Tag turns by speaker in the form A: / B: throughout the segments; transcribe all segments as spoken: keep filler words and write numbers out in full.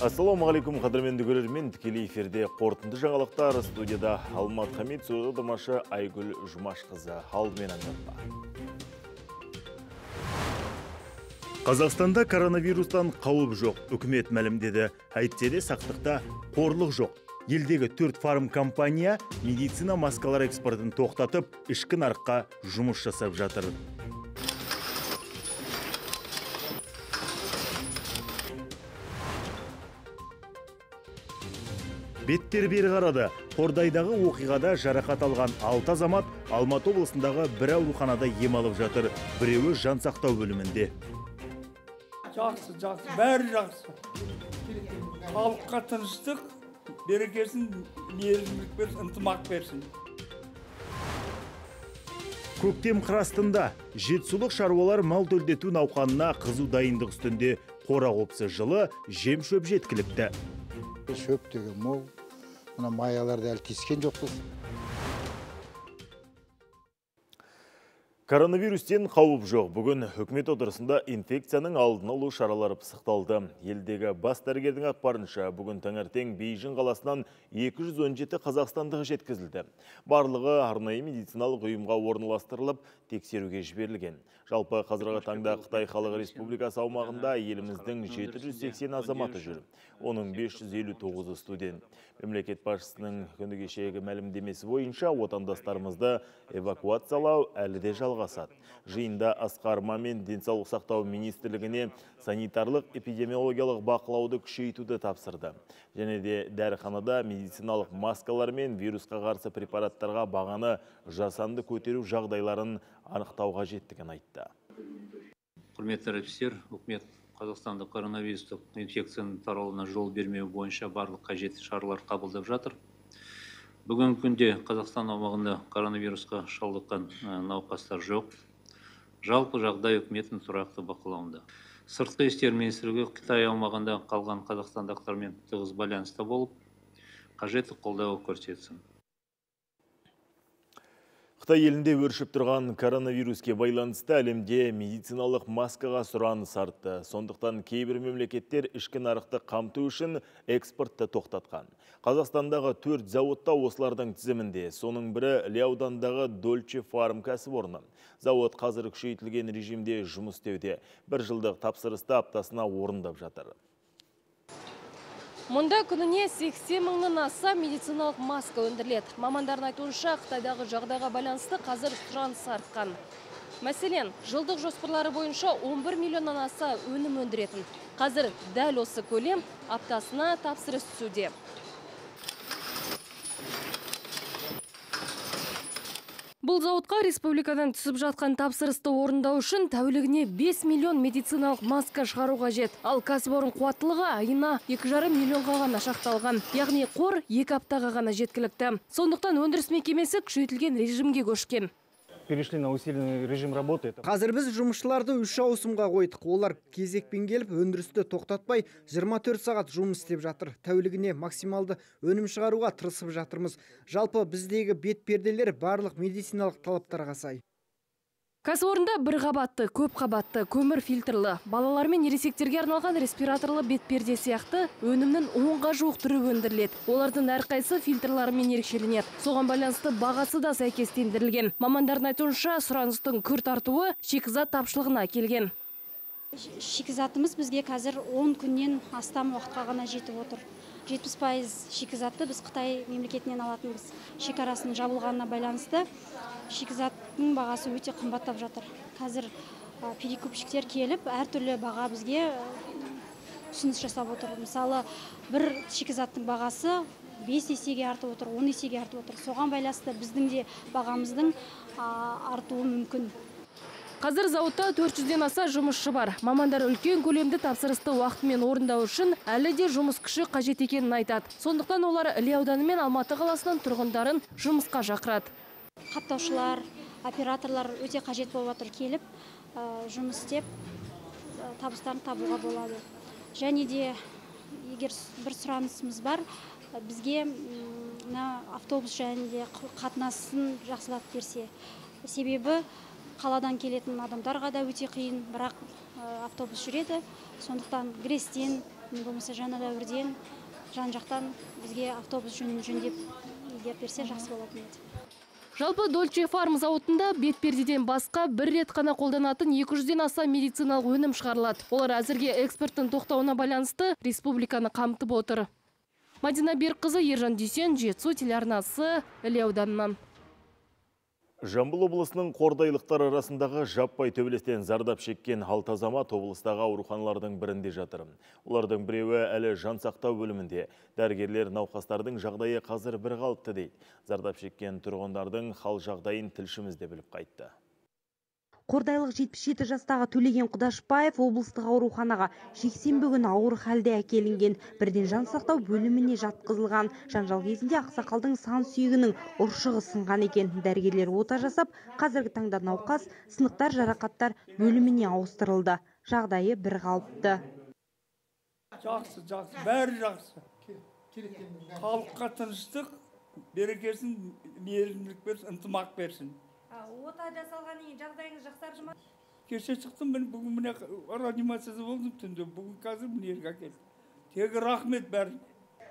A: Ассалаумағалейкум, қадірменді көрермен, тікелей эфирде қорытынды жаңалықтар, студияда Алмат Хамид, сөйлеудімашы Айгүл Жұмашқызы. Алдымен аңғарма. Қазақстанда коронавирустан қауіп жоқ, үкімет мәлімдеді. Әйтсе де сақтықта қорлық жоқ. Елдегі төрт фарм компания медицина маскалар экспортын тоқтатып, ішкі нарыққа жұмыс жасап жатыр. Беттер бері қарады. Қордайдағы оқиғада жарақат алған алты азамат Алматы облысындағы бір ауруханада ем алып жатыр. Біреуі жан сақтау бөлімінде.
B: Жақсы, жақсы, бәрі жақсы. Халыққа тыныштық, берекесін, мейірімділік берсін, ынтымақ берсін.
A: Көктем қырастында жетісулық шаруалар мал төлдету науқанына қызу дайындық үстінде. Қора қопсы жылы жем шөп жеткілікті.
C: Шөп деген мол, мына маяларды әлі тескен жоқпыз.
A: Коронавирустен қауіп жоқ. Бүгін үкімет отырысында инфекцияның алдын алу шаралары пысықталды. Елдегі бас дәрігердің ақпарынша, бүгін таңертең Бейжің қаласынан екі жүз он жеті қазақстандық жеткізілді. Барлығы арнайы медициналық ұйымға орналастырылып, тексеруге жіберілген. Жалпы қазіргі таңда Қытай Халық Республикасы аумағында еліміздің жеті жүз сексен азаматы жүр. Оның бес жүз елу тоғызы студент. Мемлекет басшысының күні кешегі мәлімдемесі бойынша отандастарымызды эвакуациялау әлі де жалғасады. Жиында Асқар Мамин денсаулық сақтау министрлігіне санитарлық эпидемиологиялық бақылауды күшейтуді тапсырды. Және де дәріханада медициналық маскалар мен вирусқа қарсы препараттарға бағаны жасанды көтеру жағдайларын анықтауға жеттігін айтты.
D: Құрметті әріптестер, үкімет Қазақстанда коронавирустық инфекцияның таралуына жол бермеу бойынша барлық қажетті шаралар қабылдап жатыр. Бүгінгі күнде Қазақстан аумағында коронавирусқа шалдыққан науқастар жоқ. Жалпы жағдай үкіметтің тұрақты бақылауында. Сыртқы істер министрлігі Қытай аумағында қалған қазақстандықтармен тығыз байланыста болып, қажетті қолдау көрсетсін.
A: Қытай елінде өршіп тұрған коронавируске байланысты әлемде медициналық маскаға сұраныс артты. Сондықтан кейбір мемлекеттер ішкі нарықты қамту үшін экспортты тоқтатқан. Қазақстандағы төрт зауытта осылардың тізімінде. Соның бірі Іле-аудандағы Дольче Фарм кәсіпорны. Зауыт қазір күшейтілген режимде жұмыс істеуде. Бір жылдық тапсырысты аптасына орындап жатыр.
E: Мұнда күніне сексен мыңнан аса медициналық маска өндіріледі. Мамандардың айтуынша, Қытайдағы жағдайға байланысты қазір сұраныс артқан. Мәселен, жылдық жоспарлары бойынша он бір миллионнан аса өнім өндіретін. Қазір дәл осы көлем аптасына тапсырыс түсуде. Бұл зауытқа республикадан түсіп жатқан тапсырысты орындау үшін тәулігіне бес миллион медициналық маска шығару қажет. Ал кәсіпорын қуаттылығы айына екі жарым миллионға ғана шақталған. Яғни қор екі аптаға ғана жеткілікті. Сондықтан өндіріс мекемесі күшейтілген режимге көшкен.
F: Перешли на усиленный режим работы.
G: Қазір біз жұмысшыларды үш ауысымға қойдық. Олар кезекпен келіп, өндірісті тоқтатпай жиырма төрт сағат жұмыс істеп жатыр. Тәулігіне максималды өнім шығаруға тырысып жатырмыз. Жалпы біздегі бет перделер барлық медициналық талаптарға сай.
E: Кәсіпорында бір қабатты, көп қабатты, көмір фильтрлы, балалар мен ересектерге арналған респираторлы бетперде сияқты өнімнің онға жуық түрі өндіріледі. Олардың әрқайсысы фильтрларымен ерекшеленеді. Соған байланысты бағасы да сәйкестендірілген. Мамандардың айтуынша, сұраныстың күрт артуы шикізат тапшылығына келген.
H: Шикізатымыз бізге қазір он күннен астам уақытқа ғана жетіп отыр. жетпіс пайыз шикізатты біз Қытай мемлекетінен алатынбыз. Шекарасының жабылғанына байланысты шикізаттың бағасы өте қымбаттап жатыр. Қазір перекупщиктер келіп, әртүрлі баға бізге ұсыныс жасап отыр. Мысалы, бір шикізаттың бағасы бес есеге артып отыр, он есеге артып отыр. Соған байланысты біздің де бағамыздың артуы мүмкін.
E: Қазір зауытта төрт жүзден аса жұмысшы бар. Мамандар үлкен көлемді тапсырысты уақытымен орындау үшін әлі де жұмыс күші қажет екенін айтады. Сондықтан олар Іле ауданы мен Алматы қаласынан тұрғындарын жұмысқа шақырады.
H: Қаптаушылар, операторлар өте қажет болып отыр, келіп жұмыс істеп табыстарын табуға болады. Және де егер бір сұранысымыз бар, бізге автобус жөнінде қатынасын жақсылап берсе. Себебі қаладан келетін адамдарға да өте қиын, бірақ автобус жүреді. Сондықтан Грестен, болмаса жаңа дәуірден, жан-жақтан бізге автобус жөндеп егер берсе жақсы болатын еді.
E: Жалпы Дольче Фарм зауытында бетпердеден басқа бір рет қана қолданатын екі жүзден аса медициналық өнім шығарылады. Олар әзірге экспорттың тоқтауына байланысты республиканы қамтып отыр. Мадина Берқызы, Ержан Дүйсен, Жетісу телеарнасы, Іле ауданынан.
A: Жамбыл облысының қордайлықтар арасындағы жаппай төбелестен зардап шеккен алты азамат облыстағы ауруханалардың бірінде жатыр. Олардың біреуі әлі жан сақтау бөлімінде. Дәрігерлер науқастардың жағдайы қазір бір қалыпты дейді. Зардап шеккен тұрғындардың хал жағдайын тілшіміз де біліп қайтты.
I: Қордайлық жетпіс жеті жастағы Төлеген Құдашбаев облыстық ауруханаға жексенбі күні ауыр халде әкелінген. Бірден жан сақтау бөліміне жатқызылған. Жанжал кезінде ақсақалдың сан сүйегінің ұршығы сынған екен. Дәрігерлер ота жасап, қазіргі таңда науқас сынықтар жарақаттар бөліміне ауыстырылды. Жағдайы бір қалыпты.
B: Жақсы, жақсы, бәрі жақсы. Халыққа тыныштық, берекесін, мейірімділік берсін, ынтымақ берсін.
I: Ота жасалған ең жағдайыңыз жақсарды ма?
B: Кеше шықтым, мен бүгін міне реанимацияда болдым түнде. Бүгін қазір міне елге әкелдім. Тегі рахмет бәрін.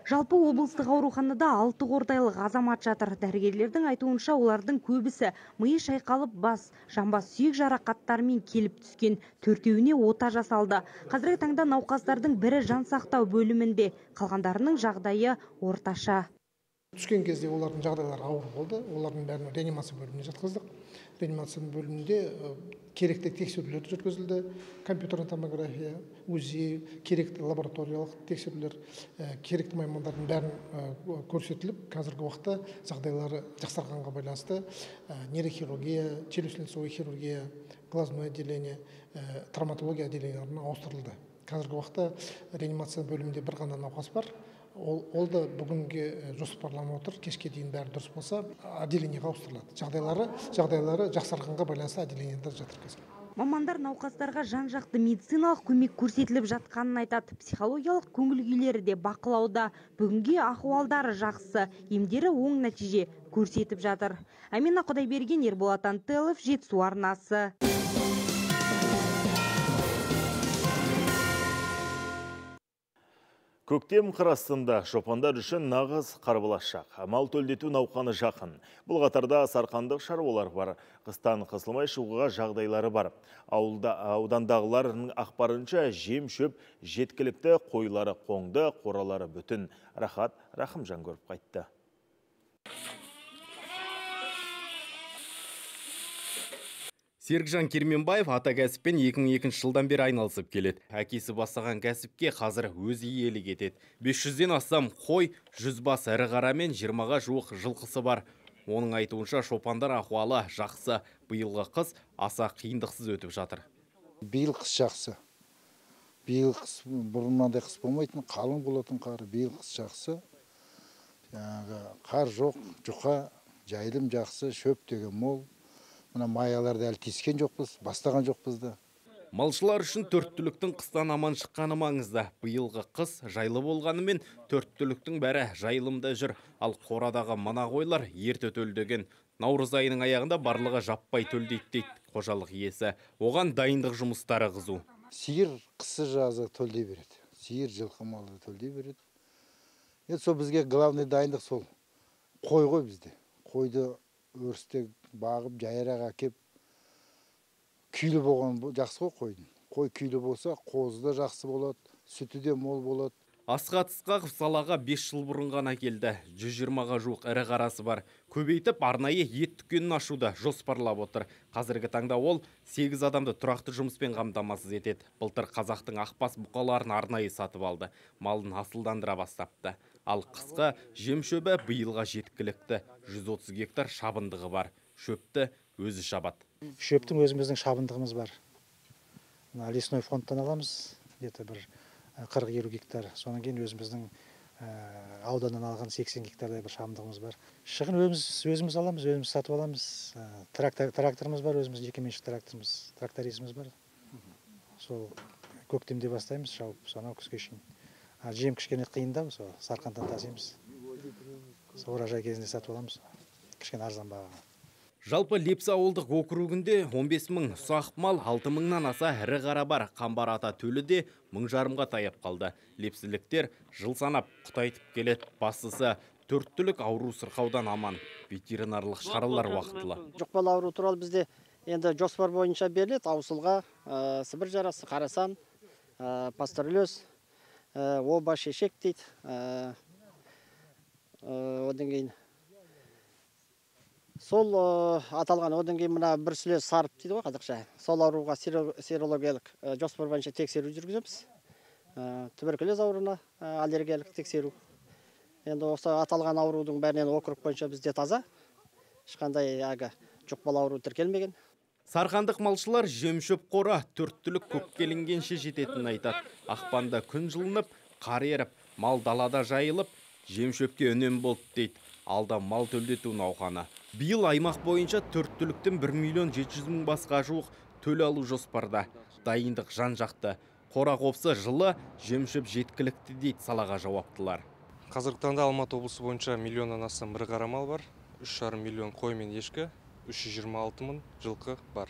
I: Жалпы облыстық ауруханада алты қордайлық азамат жатыр. Дәрігерлердің айтуынша олардың көбісі миы шайқалып бас, жамбас сүйек жарақаттарымен келіп түскен. Төртеуіне ота жасалды. Қазіргі таңда науқастардың бірі жан сақтау бөлімінде, қалғандарының жағдайы орташа.
J: Түскен кезде олардың жағдайлары ауыр болды. Олардың бәрін реанимация бөліміне жатқыздық. Реанимация бөлімінде керекті тексерулер жүргізілді. Компьютерный томография, УЗИ, керекті лабораториялық тексерулер, керекті маймандардың бәрін көрсетіліп, қазіргі уақытта жағдайлары жақсарғанға байланысты нейрохирургия, челюстно-лицевой хирургия, глазное отделение, травматология отделенияларына ауыстырылды. Қазіргі уақытта реанимация бөлімінде бір ғана науқас бар. Ол, ол да бүгінге жоспарланып отыр, кешке дейін бәрі дұрыс болса, отделениеге ауыстырылады. Жағдайлары, жағдайлары жақсарғанға байланысты отделениеде жатыр қазір.
I: Мамандар науқастарға жан-жақты медициналық көмек көрсетіліп жатқанын айтады. Психологиялық көңіл күйлері де бақылауда. Бүгінге ахуалдары жақсы, емдері оң нәтиже көрсетіп жатыр. Амина Құдайберген, Ерболат Антелов, Жетісу арнасы.
A: Көктем қырастында шопандар үшін нағыз қарбалашақ. Мал төлдету науқаны жақын. Бұл қатарда сарқандық шаруалар бар. Қыстан қысылмай шығуға жағдайлары бар. Ауылда, аудандағылардың ақпарынша жем шөп жеткілікті, қойлары қоңды, қоралары бүтін. Рахат Рахымжан көріп қайтты.
K: Серікжан Керменбаев ата кәсіппен екі мың екінші жылдан бері айналысып келеді. Әкесі бастаған кәсіпке қазір өзі иелік етеді. бес жүзден астам қой, жүз бас ірі қара мен жиырмаға жуық жылқысы бар. Оның айтуынша шопандар ахуалы жақсы. Биылғы қыс аса қиындықсыз өтіп жатыр.
C: Биыл қыс жақсы. Биыл қыс бұрыннан қыс болмайтын, қалың болатын қар. Биыл қыс жақсы. Қар жоқ, жұқа, жайылым жақсы, шөп деген мол. Мына маяларды әлі тескен жоқпыз, бастаған жоқпыз да.
K: Малшылар үшін төрт түліктің қыстан аман шыққаны маңызды. Биылғы қыс жайлы болғанымен төрт түліктің бәрі жайылымда жүр. Ал қорадағы мына қойлар ерте төлдеген. Наурыз айының аяғында барлығы жаппай төлдейді дейді қожалық иесі. Оған дайындық жұмыстары қызу.
C: Сиыр қысы жазы төлдей береді. Сиыр жылқы малы төлдей береді. Енді сол бізге главный дайындық сол. Қой ғой бізде. Қойды өрісте бағып, жайырақ әкеп, күйлі болған жақсы ғой қойдың. Қой күйлі болса, қозы да жақсы болады, сүті де мол болады.
K: Асқа Ысқақов салаға бес жыл бұрын ғана келді. жүз жиырмаға жуық ірі қарасы бар. Көбейтіп, арнайы ет дүкенін ашуды жоспарлап отыр. Қазіргі таңда ол сегіз адамды тұрақты жұмыспен қамтамасыз етеді. Былтыр қазақтың ақбас бұқаларын арнайы сатып алды. Малын асылдандыра бастапты. Ал қысқы жем шөбі биылға жеткілікті. жүз отыз гектар шабындығы бар. Шөпті өзі шабады.
L: Шөптің өзіміздің шабындығымыз бар. Лесной фондтан аламыз, где-то бір қырық елу гектар. Содан кейін өзіміздің ауданнан алған сексен гектардай бір шабындығымыз бар. Шығын өзіміз, өзіміз аламыз, өзіміз сатып аламыз. Трактор, тракторымыз бар, өзіміз жекеменшік тракторымыз, тракторизміз бар. Сол көктемде бастаймыз шауып, сонау күзге шейін. Жем кішкене қиында, сол Сарқандан тасимыз. Сол оражай кезінде сатып аламыз, кішкене арзан бағаға.
K: Жалпы Лепсі ауылдық округінде он бес мың ұсақ мал, алты мыңнан аса ірі қара бар. Қамбар ата төлі де мың жарымға таяп қалды. Лепсіліктер жыл санап құтайтып келеді. Бастысы төрт түлік ауру сырқаудан аман. Ветеринарлық шаралар уақытылы.
M: Жұқпалы ауру туралы бізде енді жоспар бойынша беріледі. Аусылға, сібір жарасы, қарасан, пастереллез, оба, шешек дейді. Одан кейін сол аталған одан кейін мына бір сүле сарып дейді ғой қазақша. Сол ауруға серологиялық жоспар бойынша тексеру жүргіземіз. Туберкулез ауруына аллергиялық тексеру. Енді осы аталған аурудың бәрінен округ бойынша бізде таза. Ешқандай ага жұқпалы ауру тіркелмеген.
K: Сарқандық малшылар жем-шөп қора төрт түлік көккелінгенше жететінін айтады. Ақпанда күн жылынып, қар еріп, мал далада жайылып, жем-шөпке үнем болды дейді. Алда мал төлдету науқаны. Биыл аймақ бойынша төрт түліктен бір миллион жеті жүз мың басқа жуық төл алу жоспарда. Дайындық жан-жақты. Қора қопсы жылы жем-шөп жеткілікті дейді салаға жауаптылар.
N: Қазіргі таңда Алматы облысы бойынша миллионнан астам ірі қара мал бар. үш жарым миллион қой мен ешкі, үш жүз жиырма алты мың жылқы бар.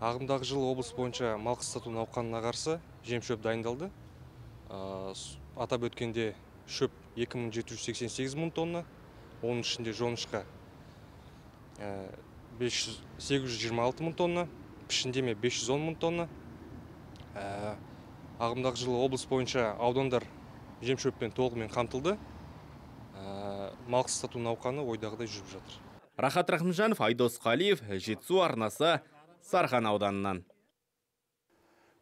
N: Ағымдағы жыл облыс бойынша мал қыстату науқанына қарсы жем-шөп дайындалды. Атап өткенде шөп екі мың жеті жүз сексен сегіз мың тонна, оның ішінде жоңышқа сегіз жүз жиырма алты мың тонна, пішіндеме бес жүз он мың тонна. Ағымдағы жылы облыс бойынша аудандар жем-шөппен толығымен қамтылды. Мал қыстату науқаны ойдағыдай жүріп жатыр.
K: Рахат Рахымжанов, Айдос Қалиев, Жетісу арнасы, Сарқан ауданынан.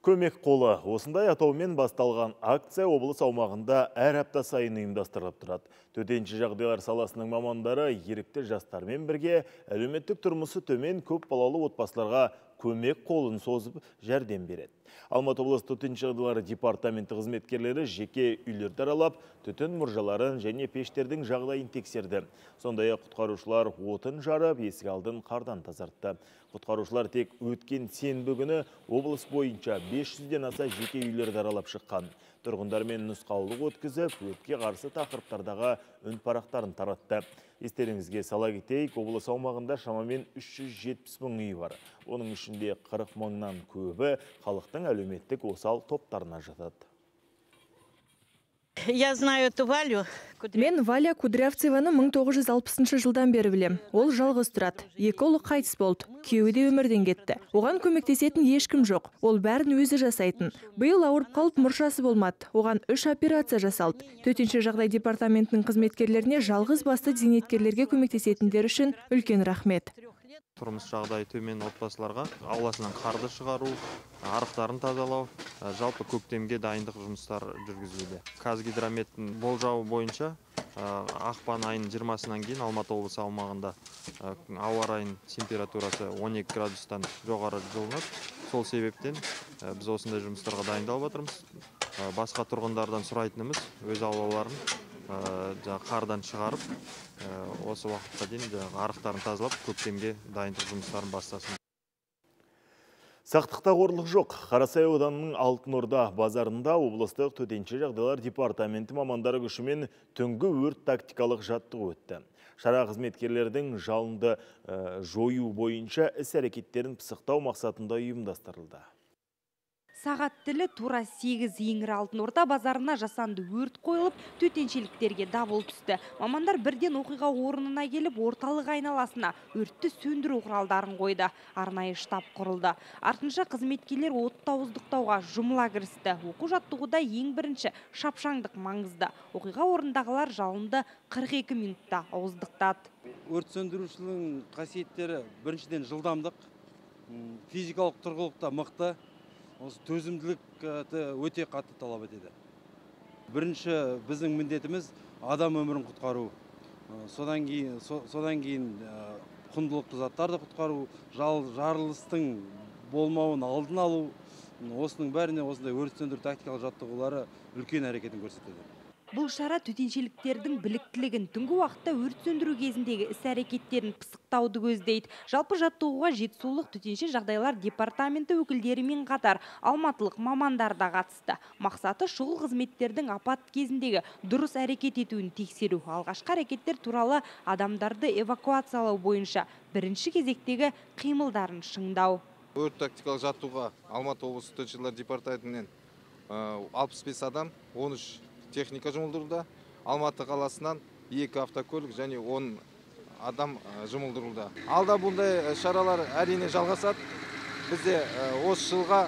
A: Көмек қолы. Осындай атаумен басталған акция облыс аумағында әр апта сайын ұйымдастырылып тұрады. Төтенше жағдайлар саласының мамандары ерікті жастармен бірге әлеуметтік тұрмысы төмен көп балалы отбасыларға көмек қолын созып жәрдем береді. Алматы облысы төтенше жағдайлар департаменті қызметкерлері жеке үйлерді аралап, түтін мұржаларын және пештердің жағдайын тексерді. Сондай-ақ құтқарушылар отын жарып, есік алдын қардан тазартты. Құтқарушылар тек өткен сенбі күні облыс бойынша бес жүзден аса жеке үйлерді аралап шыққан. Тұрғындармен нұсқаулық өткізіп, өртке қарсы тақырыптардағы үнпарақтарын таратты. Естеріңізге сала кетейік, облыс аумағында шамамен үш жүз жетпіс мың үй бар. Оның ішінде қырық мыңнан көбі халықтың әлеуметтік осал топтарына жатады.
O: Я знаю эту Валю.
P: Мен Валя Кудрявцеваны мың тоғыз жүз алпысыншы жылдан бері білем. Ол жалғыз тұрады. Екі ұлы қайтыс болды. Күйеуі де өмірден кетті. Оған көмектесетін ешкім жоқ. Ол бәрін өзі жасайтын. Биыл ауырып қалып мұршасы болмады. Оған үш операция жасалды. Төтенше жағдай департаментінің қызметкерлеріне жалғыз басты зейнеткерлерге көмектесетіндер үшін үлкен рахмет.
Q: Тұрмыс жағдайы төмен отбасыларға ауласынан қарды шығару, арықтарын тазалау, жалпы көктемге дайындық жұмыстар жүргізілуде. Қазгидрометтің болжауы бойынша ақпан айының жиырмасынан кейін Алматы облысы аумағында ауа райының температурасы он екі градустан жоғары жылынады. Сол себептен біз осындай жұмыстарға дайындалып отырмыз. Басқа тұрғындардан сұрайтынымыз өз аулаларын қардан шығарып, осы уақытқа дейін арықтарын тазалап, көктемге дайындық жұмыстарын бастасын.
A: Сақтықта қорлық жоқ. Қарасай ауданының Алтын Орда базарында облыстық төтенше жағдайлар департаменті мамандары күшімен түнгі өрт тактикалық жаттығу өтті. Шара қызметкерлердің жалынды жою бойынша іс-әрекеттерін пысықтау мақсатында ұйымдастырылды.
I: Сағат тілі тура сегіз еңір Алтын Орда базарына жасанды өрт қойылып, төтеншеліктерге дабыл түсті. Мамандар бірден оқиға орнына келіп, орталық айналасына өртті сөндіру құралдарын қойды. Арнайы штаб құрылды. Артынша қызметкерлер отты ауыздықтауға жұмыла кірісті. Оқу жаттығуда ең бірінші шапшаңдық маңызды. Оқиға орындағылар жалынды қырық екі минутта ауыздықтады.
R: Өрт сөндірушінің қасиеттері біріншіден жылдамдық, физикалық тұрғылықта мықты. Осы төзімділік өте қатты талап етеді. Бірінші біздің міндетіміз адам өмірін құтқару. Содан кейін, содан кейін құндылықты заттарды құтқару, жарылыстың болмауын алдын алу. Осының бәріне осындай өрт сөндіру тактикалық жаттығулары үлкен әрекетін көрсетеді.
I: Бұл шара төтеншеліктердің біліктілігін, түнгі уақытта өрт сөндіру кезіндегі іс-әрекеттерін пысықтауды көздейді. Жалпы жаттығуға Жетісулық төтенше жағдайлар департаменті өкілдерімен қатар алматылық мамандар да қатысты. Мақсаты шұғыл қызметтердің апат кезіндегі дұрыс әрекет етуін тексеру. Алғашқы әрекеттер туралы адамдарды эвакуациялау бойынша бірінші кезектегі қимылдарын шыңдау.
O: Өрт тактикалық жаттығуға Алматы облысы төтенше жағдайлар департаментінен алпыс бес адам, он үш техника жұмылдырылды. Алматы қаласынан екі автокөлік және он адам жұмылдырылды. Алда бұндай шаралар әрине жалғасады. Бізде осы жылға,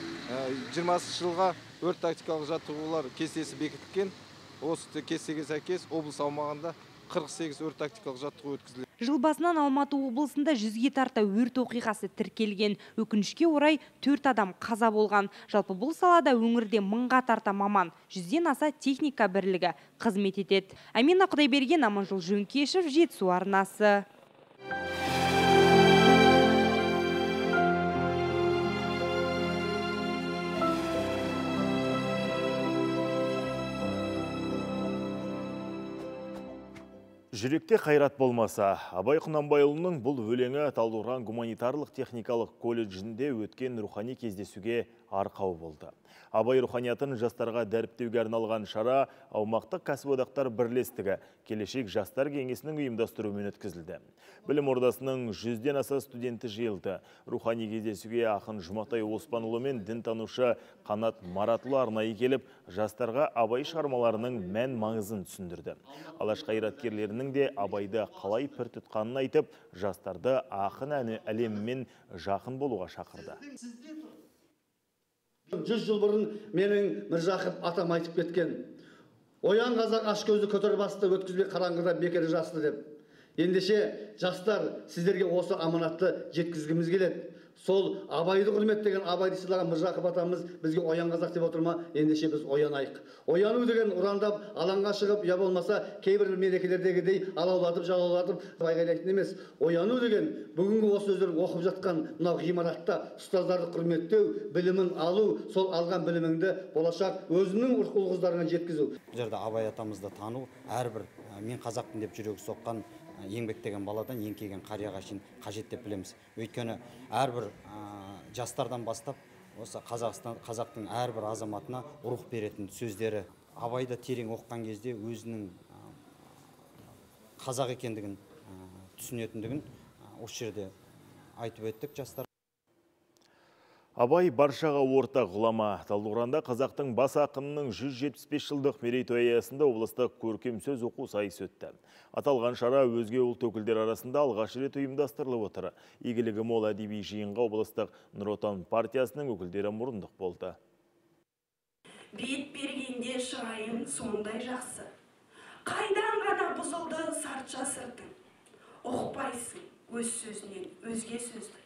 O: жиырмасыншы жылға өрт тактикалық жаттығулар кестесі бекітілген. Осы кестеге сәйкес облыс аумағында қырық сегіз өрт тактикалық жаттығу өткізілді.
I: Жыл басынан Алматы облысында жүзге тарта өрт оқиғасы тіркелген. Өкінішке орай төрт адам қаза болған. Жалпы бұл салада өңірде мыңға тарта маман, жүзден аса техника бірлігі қызмет етеді. Амина Құдайберген, Аманжол Жөнкешев, Жетісу арнасы.
A: Жүректе қайрат болмаса, Абай Құнанбайұлының бұл өлеңі Талдықорған гуманитарлық техникалық колледжінде өткен рухани кездесуге арқау болды. Абай руханиятын жастарға дәріптеуге арналған шара аумақтық кәсіподақтар бірлестігі келешек жастар кеңесінің ұйымдастыруымен өткізілді. Білім ордасының жүзден аса студенті жиылды. Рухани кездесуге ақын Жұматай Оспанұлы мен дінтанушы Қанат Маратұлы арнайы келіп, жастарға Абай шығармаларының мән маңызын түсіндірді. Алаш қайраткерлерінің де Абайды қалай пір тұтқанын айтып, жастарды ақын әні әлемімен жақын болуға шақырды.
S: Жүз жыл бұрын менің Міржақып атам айтып кеткен. Оян қазақ аш көзді көтер басты, өткізбей қараңғыда бекер жасты деп. Ендеше жастар сіздерге осы аманатты жеткізгіміз келеді. Сол Абайды құрметтеген, Абайды сыйлаған Міржақып атамыз бізге оян қазақ деп отырма, ендеше біз оянайық. Ояну деген ұрандап, алаңға шығып, я болмаса кейбір мерекелердегідей алаулатып, жалаулатып айғайлайтын емес. Ояну деген бүгінгі осы сөздерін оқып жатқан мынау ғимаратта ұстаздарды құрметтеу, білімін алу, сол алған біліміңді болашақ өзінің ұл-қыздарына жеткізу.
T: Бұл жерде Абай атамызды тану, әрбір мен қазақтың деп жүрегі соққан еңбектеген баладан еңкейген қарияға шейін қажет деп білеміз. Өйткені әрбір жастардан бастап осы Қазақстан, қазақтың әрбір азаматына рух беретін сөздері. Абайды терең оқыған кезде өзінің қазақ екендігін түсінетіндігін осы жерде айтып өттік жастар.
A: Абай баршаға ортақ ғұлама. Талдықорғанда қазақтың бас ақынының жүз жетпіс бес жылдық мерейтойы аясында облыстық көркем сөз оқу сайысы өтті. Аталған шара өзге ұлт өкілдері арасында алғаш рет ұйымдастырылып отыр. Игілігі мол әдеби жиынға облыстық Нұр Отан партиясының өкілдері мұрындық болды.
U: Бет бергенде шырайың сондай жақсы. Қайдан ғана бұзылды сартша сыртың. Оқпайсың өз сөзінен өзге сөзді.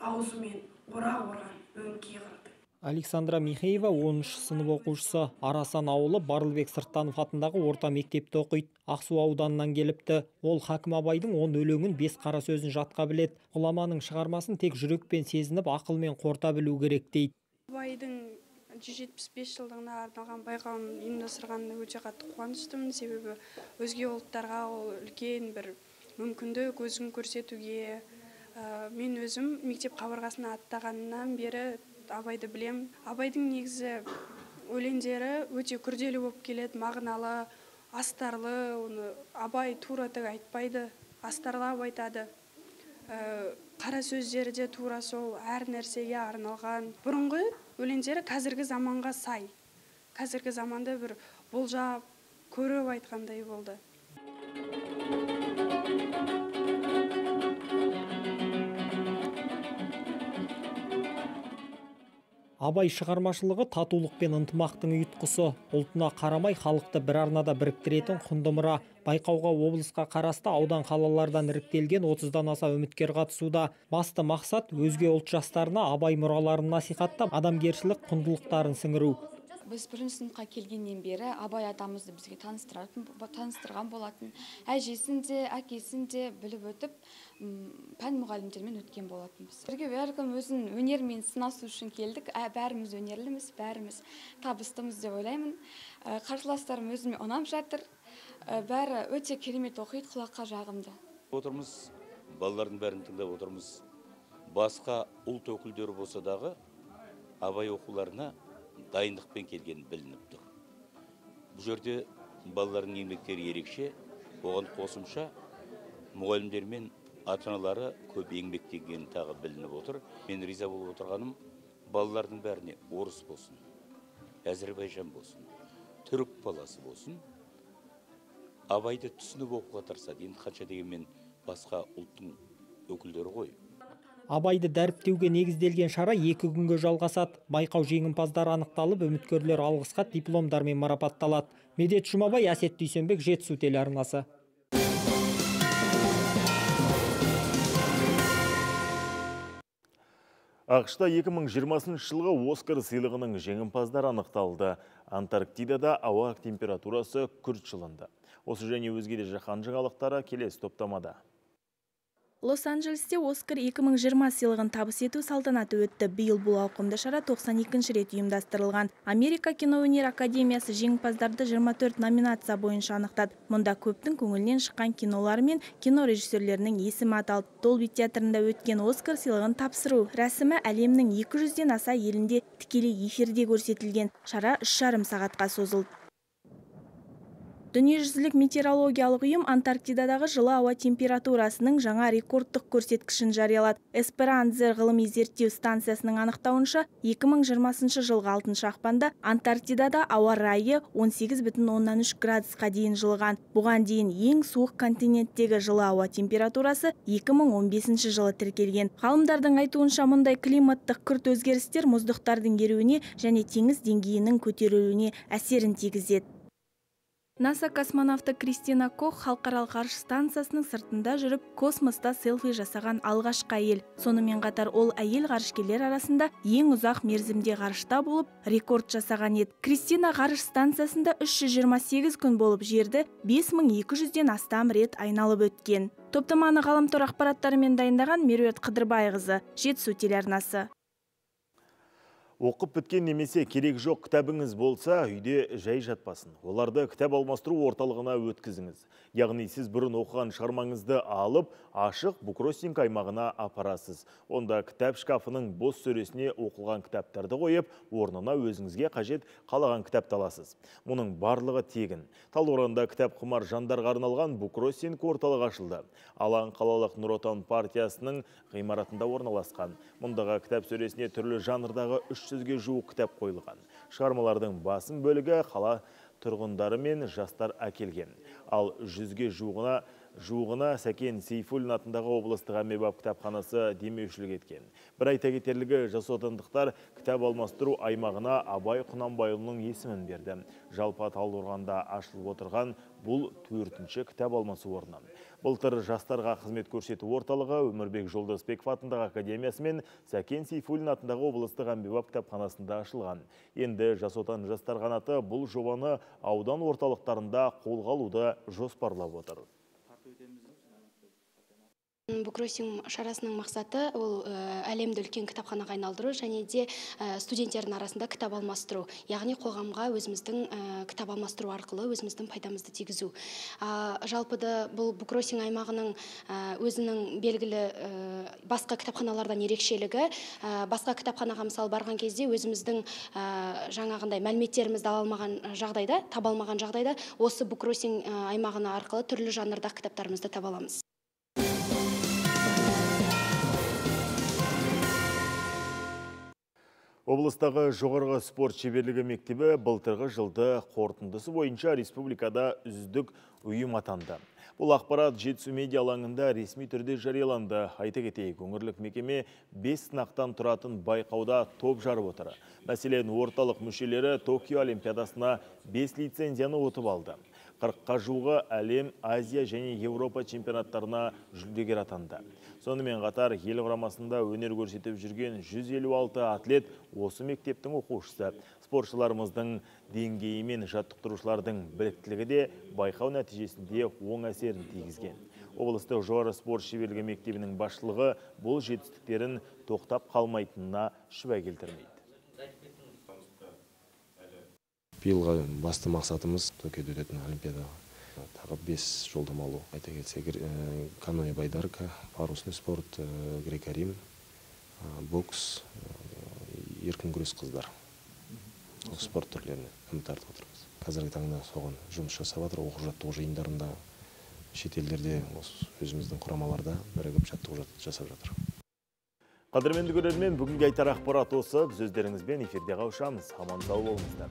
U: Аузымен орақ орған өңкей қырды.
V: Александра Михеева оныншы сынып оқушысы. Арасан ауылы Барлыбек Сырттанов атындағы орта мектепте оқиды. Ақсу ауданынан келіпті. Ол Хакім Абайдың он өлеңін бес қара сөзін жатқа білет. Ғұламаның шығармасын тек жүрекпен сезініп, ақылмен қорта білу керек дейді.
W: Абайдың жүз жетпіс бес жылдығына арналған байқауын ұйымдастырғанына өте қатты қуаныштымын. Себебі өзге ұлттарға ол үлкен бір мүмкіндік өзін көрсетуге. Мен өзім мектеп қабырғасына аттағаннан бері Абайды білем. Абайдың негізі өлеңдері өте күрделі болып келеді, мағыналы, астарлы. Оны Абай тура тік айтпайды, астарлап айтады. Қара сөздері де тура сол әр нәрсеге арналған. Бұрынғы өлеңдері қазіргі заманға сай. Қазіргі заманда бір болжап, көріп айтқандай болды.
V: Абай шығармашылығы татулық пен ынтымақтың ұйытқысы. Ұлтына қарамай халықты бір арнада біріктіретін құнды мұра. Байқауға облысқа қарасты аудан қалалардан іріктелген отыздан аса үміткер қатысуда. Басты мақсат өзге ұлт жастарына Абай мұраларын насихаттап, адамгершілік құндылықтарын сіңіру.
D: Біз бірінші сыныпқа келгеннен бері Абай атамызды бізге таныстырған болатын. Әжесін де, әкесін де біліп өтіп, пән мұғалімдермен өткен болатынбыз. Бірге бәркім өзін өнермен сынасу үшін келдік. Бәріміз өнерліміз, бәріміз табыстымыз деп ойлаймын. Қарсыластарым өзіме ұнап жатыр. Бәрі өте керемет оқиды, құлаққа жағымды.
F: Отырмыз, балалардың бәрін тыңдап отырмыз. Басқа ұлт өкілдері болса дағы Абай оқуларына дайындықпен келген білініп тұр. Бұл жерде балалардың еңбектері ерекше, оған қосымша мұғалімдер мен ата-аналары көп еңбектеген тағы білініп отыр. Мен риза болып отырғаным, балалардың бәріне орыс болсын, Әзірбайжан болсын, түрік баласы болсын, Абайды түсініп оқуға тырысады. Енді қанша дегенмен басқа ұлттың өкілдері ғой.
V: Абайды дәріптеуге негізделген шара екі күнге жалғасады. Байқау жеңімпаздары анықталып, үміткерлер алғысқа дипломдармен марапатталады. Медет Жұмабай, Әсет Дүйсенбек, Жетісу телеарнасы.
A: ақш-та екі мың жиырмасыншы жылғы Оскар сыйлығының жеңімпаздары анықталды. Антарктидада ауа температурасы күрт жылынды. Осы және өзге де жаһан жаңалықтары келесі топтамада.
G: Лос-Анджелесте Оскар екі мың жиырма сыйлығын табыс ету салтанаты өтті. Биыл бұл ауқымды шара тоқсан екінші рет ұйымдастырылған. Америка киноөнер академиясы жеңімпаздарды жиырма төрт номинация бойынша анықтады. Мұнда көптің көңілінен шыққан кинолар мен кино режиссерлерінің есімі аталды. Долби театрында өткен Оскар сыйлығын тапсыру рәсімі әлемнің екі жүзден аса елінде тікелей эфирде көрсетілген. Шара үш жарым сағатқа созылды. Дүниежүзілік метеорологиялық ұйым Антарктидадағы жылы ауа температурасының жаңа рекордтық көрсеткішін жариялады. Эсперанзер ғылыми зерттеу станциясының анықтауынша, екі мың жиырмасыншы жылғы алтыншы ақпанда Антарктидада ауа райы он сегіз бүтін оннан үш градусқа дейін жылған. Бұған дейін ең суық континенттегі жылы ауа температурасы екі мың он бесінші жылы тіркелген. Ғалымдардың айтуынша, мұндай климаттық күрт өзгерістер мұздықтардың еруіне және теңіз деңгейінің көтерілуіне әсерін тигізеді. НАСА космонавты Кристина Кох халықаралық ғарыш станциясының сыртында жүріп, космоста селфи жасаған алғашқы әйел. Сонымен қатар ол әйел ғарышкерлер арасында ең ұзақ мерзімде ғарышта болып, рекорд жасаған еді. Кристина ғарыш станциясында үш жүз жиырма сегіз күн болып, жерді бес мың екі жүзден астам рет айналып өткен. Топтаманы ғаламтор ақпараттарымен дайындаған Меруерт Қыдырбайқызы, Жетісу телеарнасы.
A: Оқып біткен немесе керек жоқ кітабыңыз болса, үйде жай жатпасын. Оларды кітап алмастыру орталығына өткізіңіз. Яғни сіз бұрын оқыған шығармаңызды алып, ашық буккроссинг аймағына апарасыз. Онда кітап шкафының бос сөресіне оқылған кітаптарды қойып, орнына өзіңізге қажет қалаған кітапты аласыз. Мұның барлығы тегін. Талдықорғанда кітап құмар жандарға арналған буккроссинг орталығы ашылды. Алаң қалалық Нұр Отан партиясының ғимаратында орналасқан. Мұндағы кітап сөресіне түрлі жанрдағы үш жүзге жуық кітап қойылған. Шығармалардың басым бөлігі қала тұрғындары мен жастар әкелген. Ал жүзге жуығына жуығына Сәкен Сейфуллин атындағы облыстық әмбебап кітапханасы демеушілік еткен. Бір айта кетерлігі, жасотандықтар кітап алмастыру аймағына Абай Құнанбайұлының есімін берді. Жалпы Талдықорғанда ашылып отырған бұл төртінші кітап алмасу орны. Былтыр жастарға қызмет көрсету орталығы Өмірбек Жолдасбеков атындағы академиясы мен Сәкен Сейфуллин атындағы облыстық әмбебап кітапханасында ашылған. Енді Жас Отан жастар қанаты бұл жобаны аудан орталықтарында қолға алуды жоспарлап отыр.
X: Буккроссинг шарасының мақсаты ол әлемді үлкен кітапханаға айналдыру және де студенттердің арасында кітап алмастыру. Яғни қоғамға өзіміздің кітап алмастыру арқылы өзіміздің пайдамызды тигізу. Жалпыда бұл буккроссинг аймағының өзінің белгілі басқа кітапханалардан ерекшелігі, басқа кітапханаға мысалы барған кезде өзіміздің жаңағындай мәліметтерімізді ала алмаған жағдайда, таба алмаған жағдайда осы буккроссинг аймағына арқылы түрлі жанрдағы кітаптарымызды таба аламыз.
A: Облыстағы жоғарғы спорт шеберлігі мектебі былтырғы жылды қорытындысы бойынша республикада үздік ұйым атанды. Бұл ақпарат Жетісу медиа алаңында ресми түрде жарияланды. Айта кетейік, өңірлік мекеме бес сынақтан тұратын байқауда топ жарып отыр. Мәселен, орталық мүшелері Токио олимпиадасына бес лицензияны ұтып алды. қырыққа жуығы әлем, Азия және Еуропа чемпионаттарына жүлдегер атанды. Сонымен қатар ел құрамасында өнер көрсетіп жүрген жүз елу алты атлет осы мектептің оқушысы. Спортшыларымыздың деңгейі мен жаттықтырушылардың біліктілігі де байқау нәтижесінде оң әсерін тигізген. Облыстық жоғары спорт шеберлігі мектебінің басшылығы бұл жетістіктерін тоқтап қалмайтынына шүбә келтірмейді.
B: Биылғы басты мақсатымыз Токиода өтетін олимпиадаға тағы бес жолдама алу. Айта кетсек, каноэ байдарка, парусный спорт, греко-рим, бокс, еркін күрес қыздар. Спорт түрлеріне үміт артып отырмыз. Қазіргі таңда соған жұмыс жасап жатыр, оқу-жаттығу жиындарында, шетелдерде, өзіміздің құрамаларда бірігіп жаттығу жасап жатыр.
A: Қадірменді көрермен, бүгінгі айтар ақпарат осы. Біз өздеріңізбен эфирде қауышамыз. Аман сау болыңыздар.